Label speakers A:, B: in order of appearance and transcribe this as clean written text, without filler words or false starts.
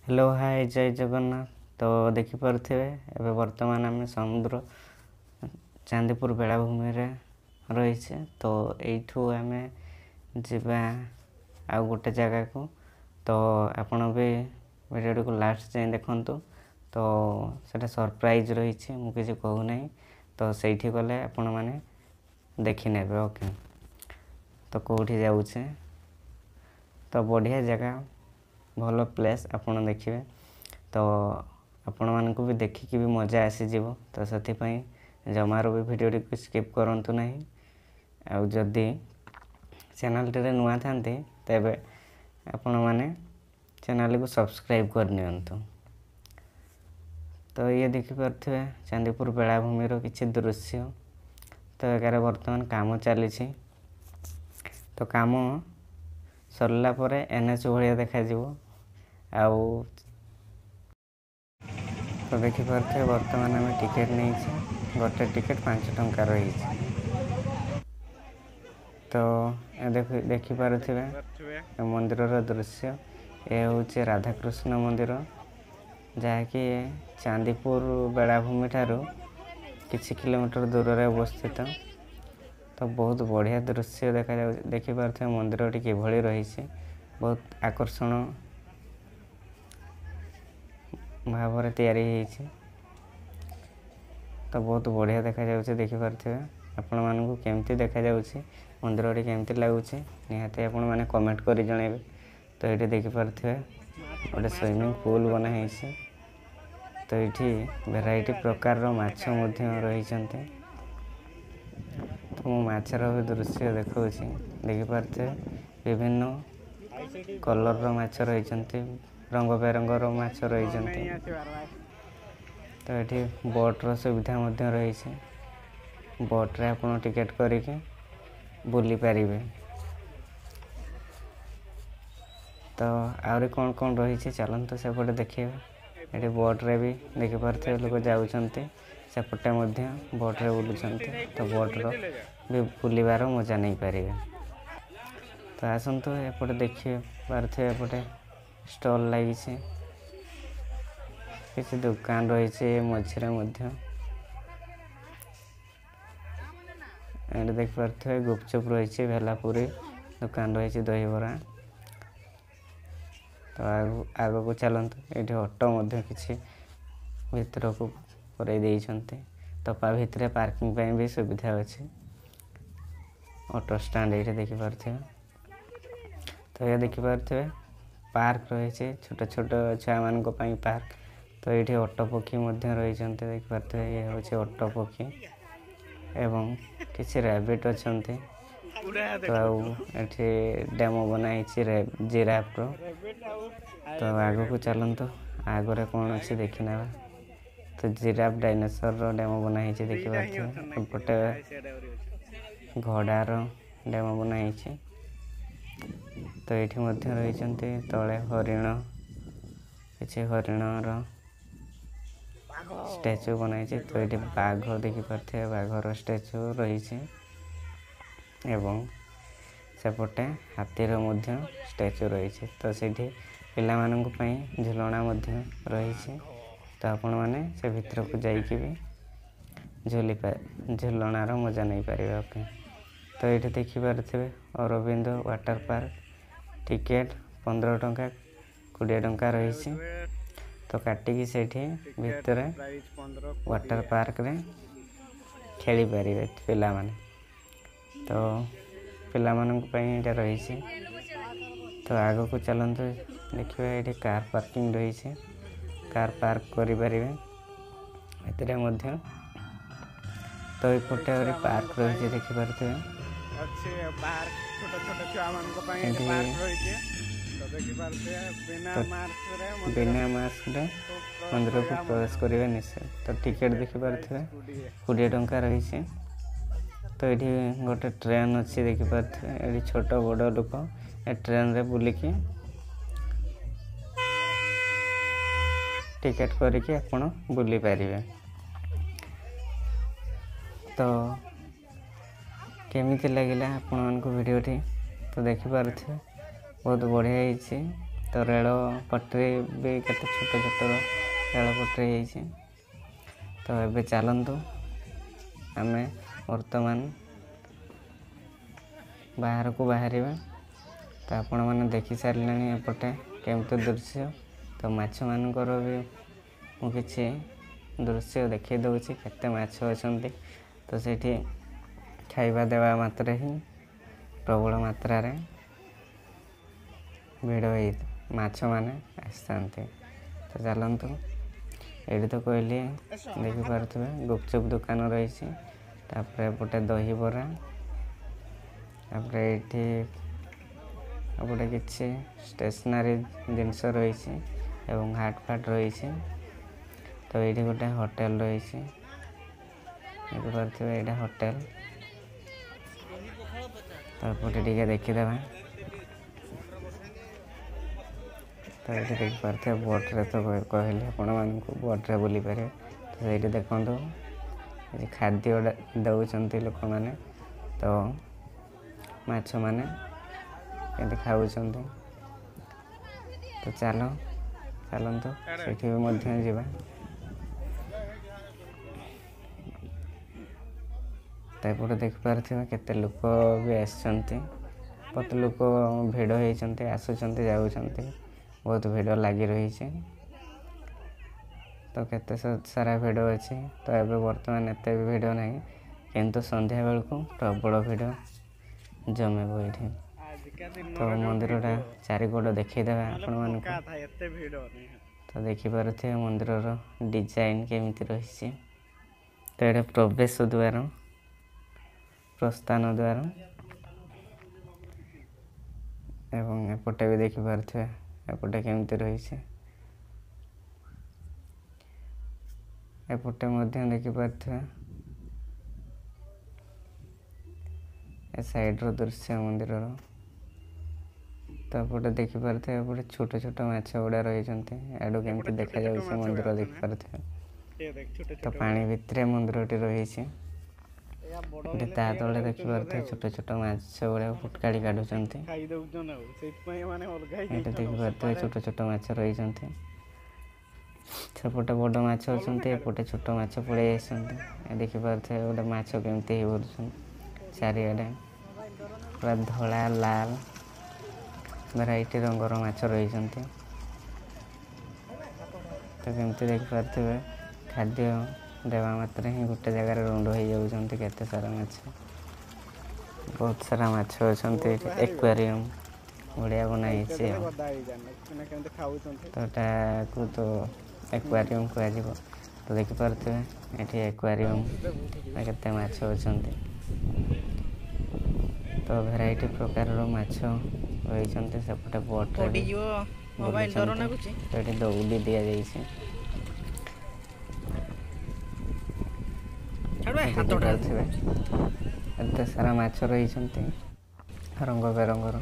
A: Hello hi, ଜୟ ଜଗନ୍ନାଥ। ତ ଦେଖିପାରୁଥିବେ, ଏବେ ବର୍ତ୍ତମାନ ଆମେ ସମୁଦ୍ର ଚାନ୍ଦିପୁର ବେଳାଭୂମିରେ ରହିଛେ। ତ ଏଇଠୁ ଆମେ ଯିବା ଆଉ ଗୋଟେ ଜାଗାକୁ। ତ ଆପଣ ବି ଭିଡ଼ିଓଟିକୁ ଲାଷ୍ଟ ଯାଏଁ ଦେଖନ୍ତୁ। ତ ସେଇଟା ସରପ୍ରାଇଜ୍ ରହିଛି, ମୁଁ କିଛି କହୁନାହିଁ। ତ ସେଇଠି ଗଲେ ଆପଣମାନେ ଦେଖିନେବେ। ଓକେ, ତ କେଉଁଠି ଯାଉଛେ? ତ ବଢ଼ିଆ ଜାଗା, ଭଲ ପ୍ଲେସ୍, ଆପଣ ଦେଖିବେ ତ ଆପଣମାନଙ୍କୁ ବି ଦେଖିକି ବି ମଜା ଆସିଯିବ। ତ ସେଥିପାଇଁ ଜମାରୁ ବି ଭିଡ଼ିଓଟିକୁ ସ୍କିପ୍ କରନ୍ତୁ ନାହିଁ। ଆଉ ଯଦି ଚ୍ୟାନେଲ୍ଟିରେ ନୂଆ ଥାନ୍ତି, ତେବେ ଆପଣମାନେ ଚ୍ୟାନେଲ୍କୁ ସବସ୍କ୍ରାଇବ୍ କରିନିଅନ୍ତୁ। ତ ଇଏ ଦେଖିପାରୁଥିବେ ଚାନ୍ଦିପୁର ବେଳାଭୂମିର କିଛି ଦୃଶ୍ୟ। ତ ଏଗାରେ ବର୍ତ୍ତମାନ କାମ ଚାଲିଛି। ତ କାମ ସରିଲା ପରେ ଏନ୍ ଏଚ୍ ଭଳିଆ ଦେଖାଯିବ। ଆଉ ତ ଦେଖିପାରୁଥିବେ, ବର୍ତ୍ତମାନ ଆମେ ଟିକେଟ୍ ନେଇଛେ। ଗୋଟେ ଟିକେଟ୍ 5 ଟଙ୍କା ରହିଛି। ତ ଦେଖିପାରୁଥିବେ ମନ୍ଦିରର ଦୃଶ୍ୟ। ଏ ହେଉଛି ରାଧାକୃଷ୍ଣ ମନ୍ଦିର, ଯାହାକି ଚାନ୍ଦିପୁର ବେଳାଭୂମି ଠାରୁ କିଛି କିଲୋମିଟର ଦୂରରେ ଅବସ୍ଥିତ। ତ ବହୁତ ବଢ଼ିଆ ଦୃଶ୍ୟ ଦେଖାଯାଉଛି। ଦେଖିପାରୁଥିବେ ମନ୍ଦିରଟି କିଭଳି ରହିଛି, ବହୁତ ଆକର୍ଷଣ ଭାବରେ ତିଆରି ହେଇଛି। ତ ବହୁତ ବଢ଼ିଆ ଦେଖାଯାଉଛି। ଦେଖିପାରୁଥିବେ, ଆପଣମାନଙ୍କୁ କେମିତି ଦେଖାଯାଉଛି, ମନ୍ଦିରଟି କେମିତି ଲାଗୁଛି, ନିହାତି ଆପଣମାନେ କମେଣ୍ଟ କରି ଜଣାଇବେ। ତ ଏଇଠି ଦେଖିପାରୁଥିବେ ଗୋଟେ ସୁଇମିଂ ପୁଲ୍ ବନା ହେଇଛି। ତ ଏଇଠି ଭେରାଇଟି ପ୍ରକାରର ମାଛ ମଧ୍ୟ ରହିଛନ୍ତି। ତ ମୁଁ ମାଛର ବି ଦୃଶ୍ୟ ଦେଖାଉଛି। ଦେଖିପାରୁଥିବେ, ବିଭିନ୍ନ କଲର୍ର ମାଛ ରହିଛନ୍ତି, ରଙ୍ଗ ବେରଙ୍ଗର ମାଛ ରହିଛନ୍ତି। ତ ଏଠି ବୋଟ୍ର ସୁବିଧା ମଧ୍ୟ ରହିଛି। ବୋଟ୍ରେ ଆପଣ ଟିକେଟ୍ କରିକି ବୁଲିପାରିବେ। ତ ଆହୁରି କ'ଣ କ'ଣ ରହିଛି, ଚାଲନ୍ତୁ ସେପଟେ ଦେଖିବା। ଏଠି ବୋଟ୍ରେ ବି ଦେଖିପାରୁଥିବେ ଲୋକ ଯାଉଛନ୍ତି, ସେପଟେ ମଧ୍ୟ ବୋଟ୍ରେ ବୁଲୁଛନ୍ତି। ତ ବୋଟ୍ର ବି ବୁଲିବାର ମଜା ନେଇପାରିବେ। ତ ଆସନ୍ତୁ ଏପଟେ। ଦେଖିପାରୁଥିବେ ଏପଟେ ଷ୍ଟଲ୍ ଲାଗିଛି, କିଛି ଦୋକାନ ରହିଛି ମଝିରେ ମଧ୍ୟ। ଏଠି ଦେଖିପାରୁଥିବେ ଗୁପଚୁପ୍ ରହିଛି, ଭେଲାପୁରୀ ଦୋକାନ ରହିଛି, ଦହିବରା। ତ ଆଗକୁ ଚାଲନ୍ତୁ। ଏଇଠି ଅଟୋ ମଧ୍ୟ କିଛି ଭିତରକୁ ପୁରେଇ ଦେଇଛନ୍ତି। ତ ତା ଭିତରେ ପାର୍କିଂ ପାଇଁ ବି ସୁବିଧା ଅଛି। ଅଟୋ ଷ୍ଟାଣ୍ଡ ଏଇଠି ଦେଖିପାରୁଥିବେ। ତ ଏହା ଦେଖିପାରୁଥିବେ ପାର୍କ ରହିଛି, ଛୋଟ ଛୋଟ ଛୁଆମାନଙ୍କ ପାଇଁ ପାର୍କ। ତ ଏଇଠି ଓଟ ପକ୍ଷୀ ମଧ୍ୟ ରହିଛନ୍ତି। ଦେଖିପାରୁଥିବେ, ଇଏ ହେଉଛି ଓଟ ପକ୍ଷୀ ଏବଂ କିଛି ରାବିଟ୍ ଅଛନ୍ତି। ତ ଆଉ ଏଠି ଡେମୋ ବନା ହେଇଛି ଜିରାଫର। ତ ଆଗକୁ ଚାଲନ୍ତୁ, ଆଗରେ କ'ଣ ଅଛି ଦେଖିନେବା। ତ ଜିରାଫ, ଡାଇନୋସରର ଡେମୋ ବନା ହେଇଛି ଦେଖିପାରୁଥିବେ। ଏପଟେ ଘୋଡ଼ାର ଡେମୋ ବନା ହେଇଛି। ତ ଏଇଠି ମଧ୍ୟ ରହିଛନ୍ତି ତଳେ ହରିଣ, କିଛି ହରିଣର ଷ୍ଟାଚୁ ବନାହେଇଛି। ତ ଏଇଠି ବାଘ ଦେଖିପାରୁଥିବେ, ବାଘର ଷ୍ଟାଚୁ ରହିଛି ଏବଂ ସେପଟେ ହାତୀର ମଧ୍ୟ ଷ୍ଟାଚୁ ରହିଛି। ତ ସେଇଠି ପିଲାମାନଙ୍କ ପାଇଁ ଝୁଲଣା ମଧ୍ୟ ରହିଛି। ତ ଆପଣମାନେ ସେ ଭିତରକୁ ଯାଇକି ବି ଝୁଲି ଝୁଲଣାର ମଜା ନେଇପାରିବେ। ଓକେ, ତ ଏଇଠି ଦେଖିପାରୁଥିବେ ଅରବିନ୍ଦ ୱାଟର ପାର୍କ, ଟିକେଟ୍ 15 ଟଙ୍କା, 20 ଟଙ୍କା ରହିଛି। ତ କାଟିକି ସେଇଠି ଭିତରେ ୱାଟର ପାର୍କରେ ଖେଳିପାରିବେ ପିଲାମାନେ। ତ ପିଲାମାନଙ୍କ ପାଇଁ ଏଇଟା ରହିଛି। ତ ଆଗକୁ ଚାଲନ୍ତୁ, ଦେଖିବା। ଏଇଠି କାର୍ ପାର୍କିଂ ରହିଛି, କାର୍ ପାର୍କ କରିପାରିବେ ଏଥିରେ ମଧ୍ୟ। ତ ଏପଟେ ଆହୁରି ପାର୍କ ରହିଛି, ଦେଖିପାରୁଥିବେ।
B: ଅଛି ପାର୍କ, ଛୋଟ ଛୋଟ ଛୁଆମାନଙ୍କ ପାଇଁ ପାର୍କ ରହିଛି। ତ ଦେଖିପାରୁଥିବେ,
A: ବିନା ମାସ୍କରେ ମନ୍ଦିରକୁ ପ୍ରବେଶ କରିବେ ନିଶ୍ଚୟ। ତ ଟିକେଟ୍ ଦେଖିପାରୁଥିବେ 20 ଟଙ୍କା ରହିଛି। ତ ଏଇଠି ଗୋଟେ ଟ୍ରେନ୍ ଅଛି, ଦେଖିପାରୁଥିବେ। ଏଠି ଛୋଟ ବଡ଼ ଲୋକ ଏ ଟ୍ରେନ୍ରେ ବୁଲିକି ଟିକେଟ୍ କରିକି ଆପଣ ବୁଲିପାରିବେ। ତ କେମିତି ଲାଗିଲା ଆପଣମାନଙ୍କୁ ଭିଡ଼ିଓଟି? ତ ଦେଖିପାରୁଥିବେ ବହୁତ ବଢ଼ିଆ ହେଇଛି। ତ ରେଳ ପଟରୀ ବି କେତେ ଛୋଟ ଛୋଟ ରେଳ ପଟରୀ ହେଇଛି। ତ ଏବେ ଚାଲନ୍ତୁ ଆମେ ବର୍ତ୍ତମାନ ବାହାରକୁ ବାହାରିବା। ତ ଆପଣମାନେ ଦେଖି ସାରିଲେଣି ଏପଟେ କେମିତି ଦୃଶ୍ୟ। ତ ମାଛମାନଙ୍କର ବି ମୁଁ କିଛି ଦୃଶ୍ୟ ଦେଖାଇ ଦେଉଛି, କେତେ ମାଛ ଅଛନ୍ତି। ତ ସେଇଠି ଖାଇବା ଦେବା ମାତ୍ରେ ହିଁ ପ୍ରବଳ ମାତ୍ରାରେ ଭିଡ଼ ହେଇ ମାଛମାନେ ଆସିଥାନ୍ତି। ତ ଚାଲନ୍ତୁ, ଏଇଠି ତ କହିଲି ଦେଖିପାରୁଥିବେ ଗୁପଚୁପ୍ ଦୋକାନ ରହିଛି, ତାପରେ ଏପଟେ ଦହିବରା, ତାପରେ ଏଇଠି ଏପଟେ କିଛି ଷ୍ଟେସନାରୀ ଜିନିଷ ରହିଛି ଏବଂ ହାଟ ଫାଟ ରହିଛି। ତ ଏଇଠି ଗୋଟେ ହୋଟେଲ ରହିଛି, ଦେଖିପାରୁଥିବେ ଏଇଟା ହୋଟେଲ। ତ ଏପଟେ ଟିକେ ଦେଖିଦେବା। ତ ଏଇଠି ଦେଖିପାରୁଥିବେ ବୋଟ୍ରେ, ତ କହିଲି ଆପଣମାନଙ୍କୁ ବୋଟ୍ରେ ବୁଲିପାରିବେ। ତ ସେଇଠି ଦେଖନ୍ତୁ ଖାଦ୍ୟ ଦେଉଛନ୍ତି ଲୋକମାନେ, ତ ମାଛମାନେ କେମିତି ଖାଉଛନ୍ତି। ତ ଚାଲନ୍ତୁ ସେଠି ବି ମଧ୍ୟ ଯିବା। ତ ଏପଟେ ଦେଖିପାରୁଥିବେ କେତେ ଲୋକ ବି ଆସିଛନ୍ତି, ବହୁତ ଲୋକ ଭିଡ଼ ହେଇଛନ୍ତି, ଆସୁଛନ୍ତି ଯାଉଛନ୍ତି, ବହୁତ ଭିଡ଼ ଲାଗି ରହିଛି। ତ କେତେ ସାରା ଭିଡ଼ ଅଛି। ତ ଏବେ ବର୍ତ୍ତମାନ ଏତେ ବି ଭିଡ଼ ନାହିଁ, କିନ୍ତୁ ସନ୍ଧ୍ୟାବେଳକୁ ପ୍ରବଳ ଭିଡ଼ ଜମିବ ଏଇଠି। ତ ମନ୍ଦିରଟା ଚାରିକଡ଼ ଦେଖେଇଦେବା ଆପଣମାନଙ୍କୁ। ତ ଦେଖିପାରୁଥିବେ ମନ୍ଦିରର ଡିଜାଇନ୍ କେମିତି ରହିଛି। ତ ଏଇଟା ପ୍ରବେଶ ଦ୍ୱାର, ପ୍ରସ୍ଥାନ ଦ୍ୱାର, ଏବଂ ଏପଟେ ବି ଦେଖିପାରୁଥିବେ ଏପଟେ କେମିତି ରହିଛି। ଏପଟେ ମଧ୍ୟ ଦେଖିପାରୁଥିବେ ଏ ସାଇଡ଼ର ଦୃଶ୍ୟ ମନ୍ଦିରର। ତ ଏପଟେ ଦେଖିପାରୁଥିବେ ଏପଟେ ଛୋଟ ଛୋଟ ମାଛ ଗୁଡ଼ା ରହିଛନ୍ତି, ଆଡ଼ୁ କେମିତି ଦେଖାଯାଉଛି ମନ୍ଦିର ଦେଖିପାରୁଥିବେ। ତ ପାଣି ଭିତରେ ମନ୍ଦିରଟି ରହିଛି। ଏଠି ତା ତଳେ ଦେଖିପାରୁଥିବେ ଛୋଟ ଛୋଟ ମାଛ ଗୁଡ଼ାକ ଫୁଟକାଳି କାଢୁଛନ୍ତି। ଏଠି ଦେଖିପାରୁଥିବେ ଛୋଟ ଛୋଟ ମାଛ ରହିଛନ୍ତି, ସେପଟେ ବଡ଼ ମାଛ ଅଛନ୍ତି, ଏପଟେ ଛୋଟ ମାଛ ପଳେଇ ଆସିଛନ୍ତି। ଦେଖିପାରୁଥିବେ ଗୋଟେ ମାଛ କେମିତି ହେଇ ବୁଲୁଛନ୍ତି। ଚାରିଆଡ଼େ ପୁରା ଧଳା ଲାଲ ଭେରାଇଟି ରଙ୍ଗର ମାଛ ରହିଛନ୍ତି। ତ କେମିତି ଦେଖିପାରୁଥିବେ ଖାଦ୍ୟ ଦେବା ମାତ୍ରେ ହିଁ ଗୋଟେ ଜାଗାରେ ରୁଣ୍ଡ ହେଇଯାଉଛନ୍ତି କେତେ ସାରା ମାଛ, ବହୁତ ସାରା ମାଛ ଅଛନ୍ତି ଏଠି। ଏକ୍ୱାରିୟମ୍ ବଢ଼ିଆ ବନା ହେଇଛି ଆଉ। ତ ଏଟାକୁ ତ ଏକ୍ୱାରିୟମ୍ କୁହାଯିବ। ତ ଦେଖିପାରୁଥିବେ ଏଠି ଏକ୍ୱାରିୟମ୍ କେତେ ମାଛ ଅଛନ୍ତି। ତ ଭେରାଇଟି ପ୍ରକାରର ମାଛ ରହିଛନ୍ତି। ସେପଟେ ବୋଟ୍ରେ ବୁଲୁଛନ୍ତି। ତ ଏଠି ଦଉଡ଼ି ଦିଆଯାଇଛି। ଦେଖିପାରୁଥିବେ ଏତେ ସାରା ମାଛ ରହିଛନ୍ତି ରଙ୍ଗ ବେରଙ୍ଗର।